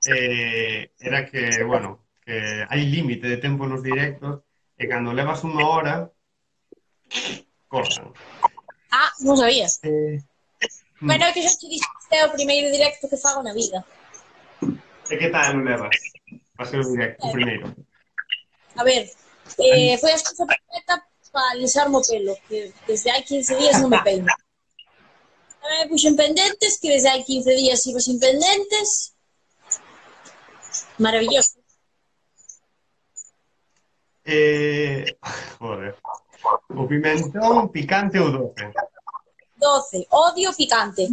era que, bueno, que hai límite de tempo nos directos e cando levas unha hora, cortan. Ah, non sabía. Mm. Bueno, é que xa te dixo que é o primeiro directo que fago na vida. E que tal non levas? Para ser o directo, o primeiro. A ver, foi a excusa perfecta para alisarme o pelo, que desde hai 15 días non me peino. Tamén me puxen pendentes, que desde hai 15 días iba sin pendentes. Maravilloso. Joder. O pimentón picante ou doce? 12. Odio picante.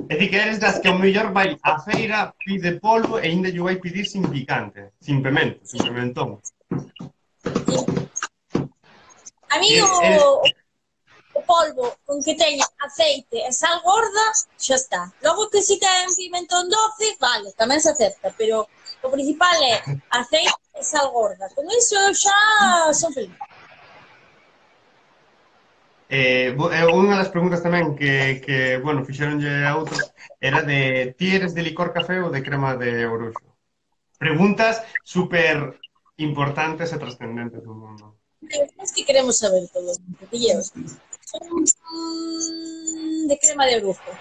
É dicir, que eres das que o mellor vai á feira, pide polvo e ainda lle vai pedir sin picante, sin pimento, sin pimentón. A mí o polvo con que teña aceite e sal gorda, xa está. Logo que si ten pimentón doce, vale, tamén se acepta, pero o principal é aceite e sal gorda. Con iso xa son feliz. Unha das preguntas tamén que bueno, fixeronlle a outros era de ti eres de licor café ou de crema de oruxo? Preguntas super importantes e trascendentes do mundo. Es que queremos saber todo, pilleos. De crema de orujo.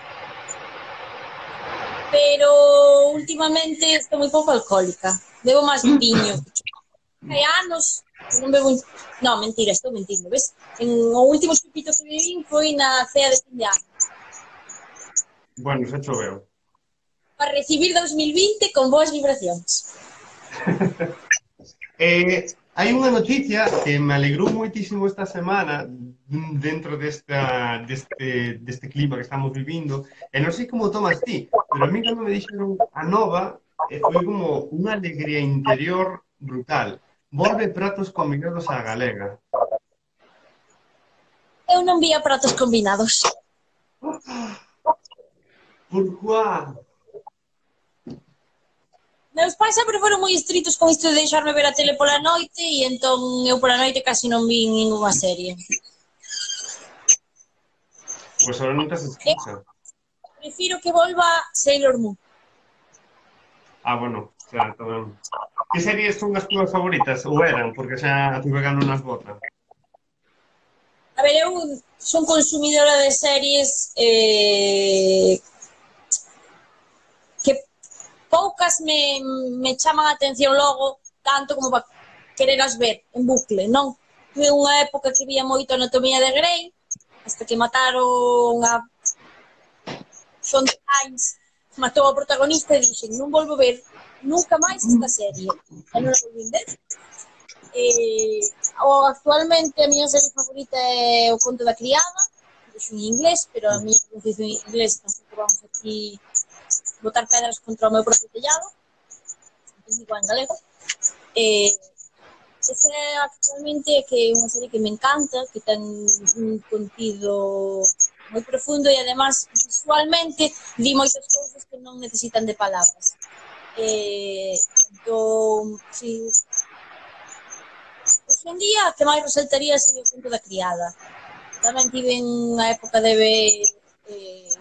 Pero últimamente estou moi pouco alcohólica. Bebo máis viño. Hai anos Non bebo... Non, mentira, estou mentindo, ves? O último chupito que bebín foi na cea de fin de ano. Bueno, xa choveu. Para recibir 2020 con boas vibracións. Hai unha noticia que me alegrou moitísimo esta semana dentro deste clima que estamos vivindo, e non sei como tomas ti, pero a mí cando me dixeron a nova, foi como unha alegría interior brutal. Volve pratos combinados á galega. Eu non vía pratos combinados. Pourquoi? Meus pais sempre foron moi estritos con isto de deixarme ver a tele pola noite e entón eu pola noite casi non vi ninguna serie. Pois ahora non tes Eu excusa. prefiro que volva Sailor Moon. Ah, bueno, xa, tamén. Que series son as túas favoritas? Ou eran? Porque xa a tu vegano nas botas. A ver, eu son consumidora de series que poucas me chaman a atención logo, tanto como para quereras ver en bucle, non? Tuve unha época que vía moito Anatomía de Grey, hasta que mataron a Shonda Rhimes, matou ao protagonista e dixen, non volvo ver nunca máis esta serie. E non a volví ver. Actualmente a miña serie favorita é O conto da criada, vexo en inglés, pero a miña pronunciación en inglés tampouco vamos aquí botar pedras contra o meu propio tellado, digo en galego. Esa actualmente que é unha serie que me encanta, que ten un contido moi profundo e además visualmente di moitas cousas que non necesitan de palabras. Entón, si, hoxe en día, que máis resaltaría sería O conto da criada. Tamén tive unha época de ver,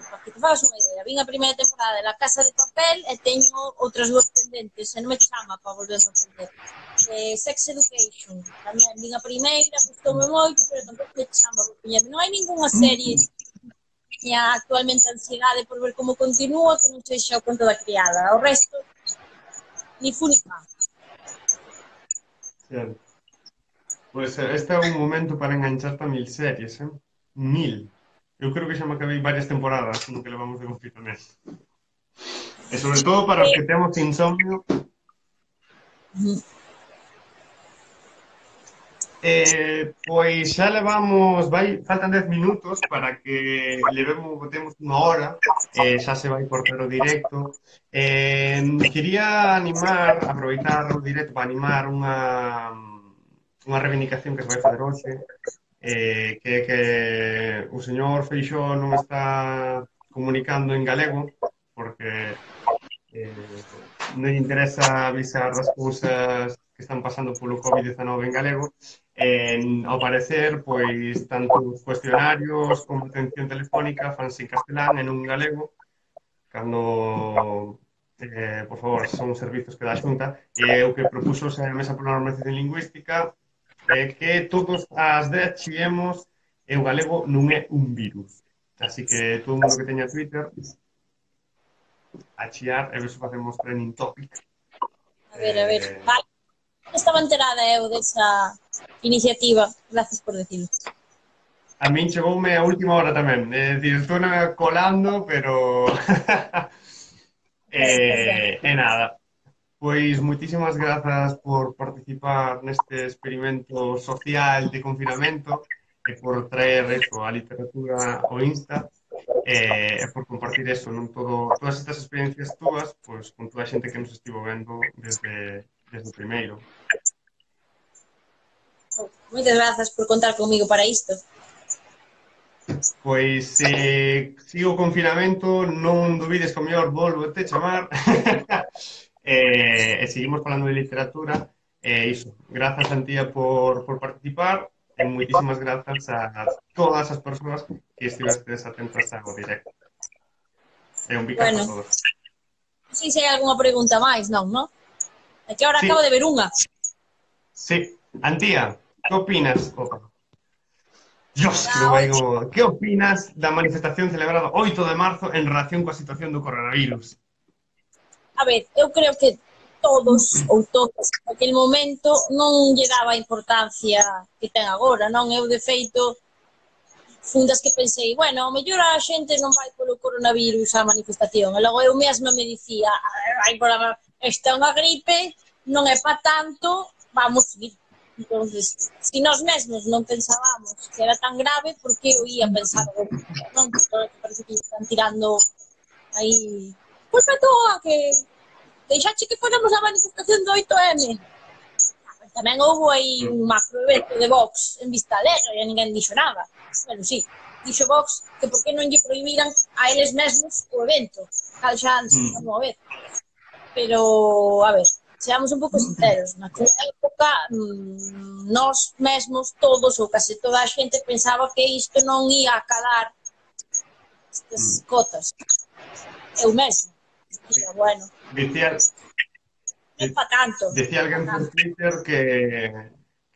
para que te fagas unha idea, vin a primeira temporada de La Casa de Papel e teño outras duas pendentes, e non me chama para volver a aprender. Sex Education, tamén vin a primeira, gustoume moito, pero tampouco me chama por poñerme. Non hai ningunha serie que teña actualmente ansiedade por ver como continúa que non sexa O conto da criada. O resto, ni fu ni fa. Certo. Pois este é un momento para engancharte a 1000 series, 1000. Eu creo que xa me acabei varias temporadas no que levamos de confinamento. E sobre todo para os que temos insomnio. Pois xa levamos, faltan 10 minutos para que botemos unha hora, xa se vai cortar o directo. Quería aproveitar o directo para animar unha reivindicación que se vai fazer hoxe, que é que o señor Feixóo non está comunicando en galego, porque non lle interesa avisar das cousas que están pasando polo COVID-19 en galego. Ao parecer, pois, tanto os cuestionarios como a atención telefónica fanse en castelán e non en galego, cando, por favor, son servizos que dá a Xunta, e o que propuso a Mesa pola Normalización Lingüística é que todos as 10 chiemos e o galego non é un virus. Así que todo o mundo que teña Twitter a chiar e ver se facemos trending topic. A ver. Vale. Estaba enterada eu desa iniciativa. Gracias por decirlo. A min chegoume a última hora tamén. É dicir, estou colando, pero... nada. Pois moitísimas grazas por participar neste experimento social de confinamento e por traer eso, a literatura ao Insta e por compartir eso, non todas estas experiencias túas pois, con toda a xente que nos estivo vendo desde o primeiro. Moitas grazas por contar comigo para isto. Pois sigo o confinamento, non dubides que o mellor volvo te chamar e seguimos falando de literatura e iso, grazas Antía por participar e moitísimas grazas a todas as persoas que estivestes atentas ao directo. E un bicazo a todos. Non sei se hai algunha pregunta máis, non? É que ahora acabo de ver unha. Sí, Antía, que opinas? Dios, que non vai como... Que opinas da manifestación celebrada 8 de marzo en relación coa situación do coronavirus? A ver, eu creo que todos ou todas naquele momento non lle daba a importancia que ten agora, non? Eu, de feito, fun das que pensei, bueno, ao mellor a xente non vai polo coronavirus á manifestación, e logo eu mesma me dicía, esta é unha gripe, non é pa tanto, vamos ir. Entonces, se nós mesmos non pensábamos que era tan grave, por que eu ia pensar non? Porque parece que están tirando aí, pois a toa, que deixache que fóramos a manifestación do 8M. Tamén houve aí un macro evento de Vox en Vista Alegre e ninguén dixo nada. Bueno, sí, dixo Vox que por que non lle prohibiran a eles mesmos o evento. Cal xa antes, non a ver. Pero, a ver, seamos un pouco sinceros. Naquela época, nós mesmos, todos ou case toda a xente pensaba que isto non ia acalar estas cotas. Eu mesmo. Dicía, bueno, non pa tanto. Decía alguén por Twitter que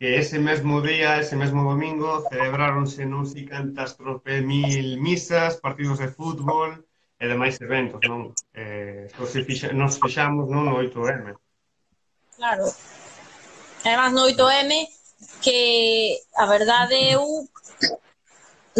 ese mesmo día, ese mesmo domingo, celebráronse non sei cantas mil misas, partidos de fútbol e demais eventos, non? Nos fixamos, non, no 8M. Claro. Además, no 8M, que a verdade eu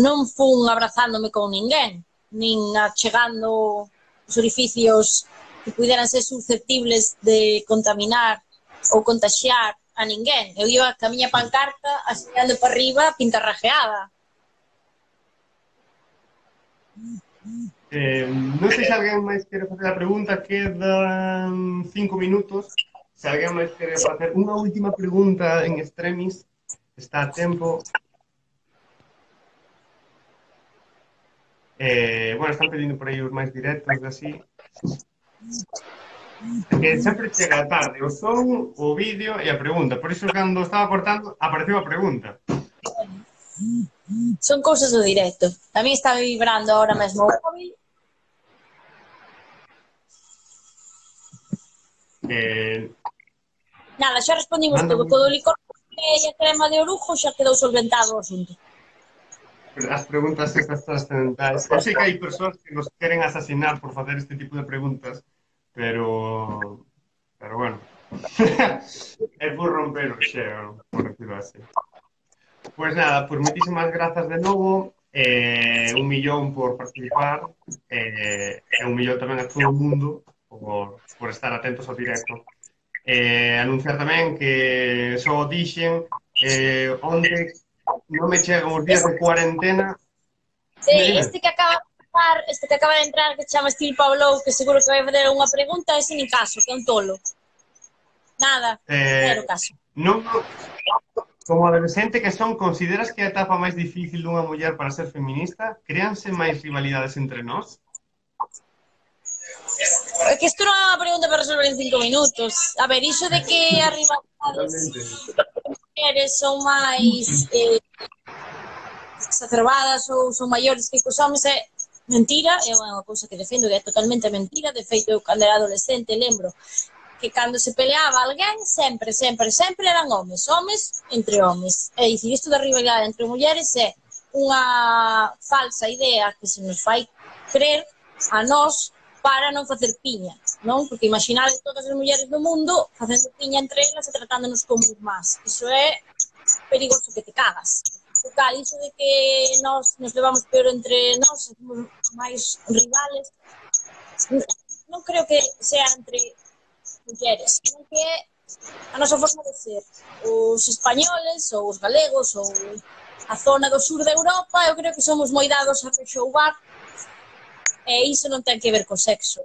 non fun abrazándome con ninguén, nin achegando os orificios que puderan ser susceptibles de contaminar ou contaxiar a ninguén. Eu iba ca miña pancarta aseando para arriba pintarrajeada. Non sei se alguén máis quere facer a pregunta, quedan 5 minutos. Se alguén máis quere facer unha última pregunta en extremis, está a tempo. Bueno, están pedindo por aí os máis directos e así. Que sempre chega tarde o son, o vídeo e a pregunta. Por iso, cando estaba cortando, apareceu a pregunta. Son cousas do directo. Tamén está vibrando ahora mesmo o móvil. Nada, xa respondimos todo. Co do licor e a crema de orujo xa quedou solventado o asunto. As preguntas estas trascendentais. Eu sei que hai persoas que nos queren asasinar por facer este tipo de preguntas, pero bueno. É por romper o xeo, por decirlo así. Pois nada, pues moitísimas grazas de novo, un millón por participar, e un millón tamén a todo o mundo por estar atentos ao directo. Anunciar tamén que só dixen onde non me chegan os días de cuarentena. Sí, este que acaba de entrar, que se chama Steel Pablo, que seguro que vai fazer unha pregunta, ese ni caso, que é un tolo. Nada, cero caso. Non, como adolescente que son, consideras que a etapa máis difícil dunha muller para ser feminista? Créanse máis rivalidades entre nós? É que isto non é unha pregunta para resolver en 5 minutos. A ver, iso de que as rivalidades das mulleres son máis exacerbadas ou son maiores que os homens é mentira, é unha cousa que defendo que é totalmente mentira. De feito, eu cando era adolescente lembro que cando se peleaba alguén sempre eran homes entre homes. É dicir, isto da rivalidade entre mulleres é unha falsa idea que se nos fai crer a nós para non facer piña, non? Porque imaginade todas as mulleres do mundo facendo piña entre elas e tratándonos como irmás. Iso é perigoso que te cagas. Total, iso de que nos levamos peor entre nós, somos máis rivales, non creo que sea entre mulleres, sino que é a nosa forma de ser. Os españoles ou os galegos ou a zona do sur de Europa, eu creo que somos moi dados a rexoubar. E iso non ten que ver co sexo.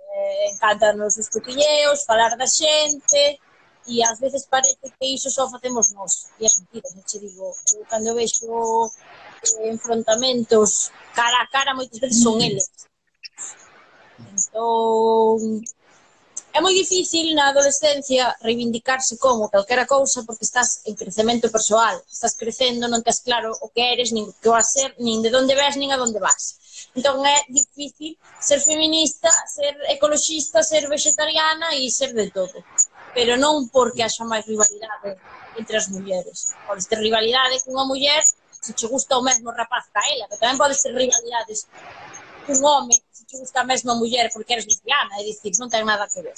Encantanos os cotilleos, falar da xente, e ás veces parece que iso só facemos nós. E é mentira, non che digo. Eu cando vexo enfrontamentos cara a cara, moitas veces son eles. Entón, é moi difícil na adolescencia reivindicarse como calquera cousa porque estás en crecemento persoal. Estás crecendo, non tes claro o que eres, nin o que vas ser, nin de onde ves, nin a onde vas. Entón é difícil ser feminista, ser ecoloxista, ser vegetariana e ser de todo. Pero non porque haxa máis rivalidade entre as mulleres. Podes ter rivalidade cunha muller se che gusta o mesmo rapaz ca ela, pero tamén podes ter rivalidades cun home se che gusta a mesma muller porque eres lesbiana, é dicir, non ten nada que ver.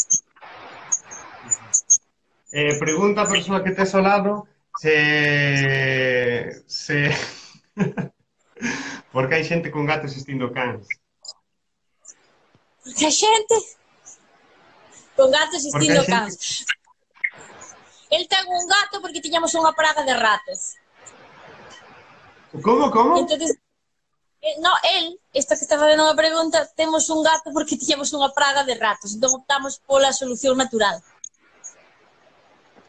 Pregunta a persoa que tes ao lado se... Porque hai xente con gatos existindo cans. Porque a xente con gatos Porque hai existindo xente... cans. El ten un gato porque tiñamos unha praga de ratos. Como, como? Entonces, no, esta que está facendo unha pregunta, temos un gato porque tiñamos unha praga de ratos. Entón optamos pola solución natural.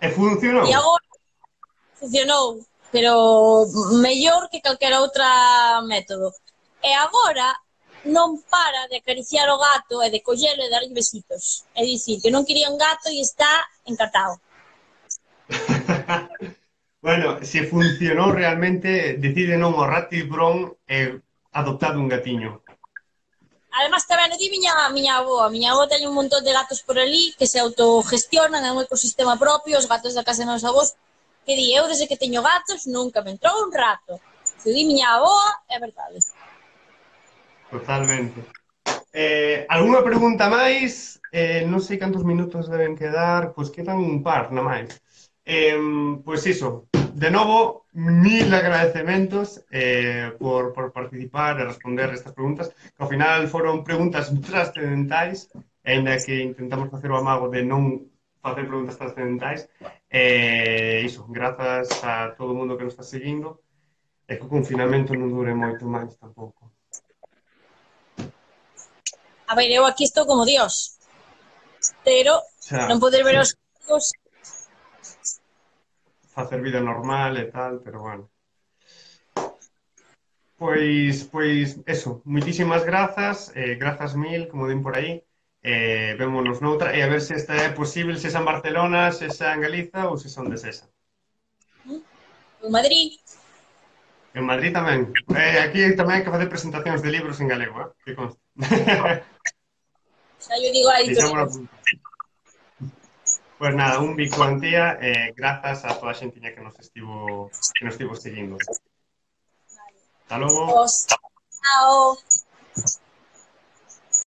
E funcionou? E agora funcionou, pero mellor que calquera outra método. E agora non para de acariciar o gato e de collelo e darlle besitos. É dicir, que non quería un gato e está encantado. Bueno, se funcionou realmente, decide non o ratibron e adoptado un gatiño. Además, tamén o di miña avó. A miña avó ten un montón de gatos por ali que se autogestionan, é un ecosistema propio, os gatos da casa de meus avós, que di, eu desde que teño gatos nunca me entrou un rato. Se o di miña avó, é verdade. Totalmente. Algúna pregunta máis? Non sei cantos minutos deben quedar, pois quedan un par, na máis. Pois iso, de novo, mil agradecementos por participar e responder estas preguntas, que ao final foron preguntas trascendentais, ainda que intentamos facer o amago de non facer preguntas trascendentais. Iso, grazas a todo o mundo que nos está seguindo, e que o confinamento non dure moito máis tampouco. A ver, eu aquí estou como Dios, pero Xa, non poder ver os gatos. facer vida normal e tal, pero bueno. Pois, eso, moitísimas grazas, grazas mil, como din por aí, vémonos noutra, e a ver se esta é posible, se xa en Barcelona, se xa en Galiza ou se son de Sesa. En Madrid, En Madrid tamén. Aquí tamén hai que facer presentacións de libros en galego, que conste. xa yo digo a Deixámonos editorial. apuntar. Pois nada, un bico Antía, grazas a toda a xentiña que nos estivo seguindo. Hasta logo. Os, chao.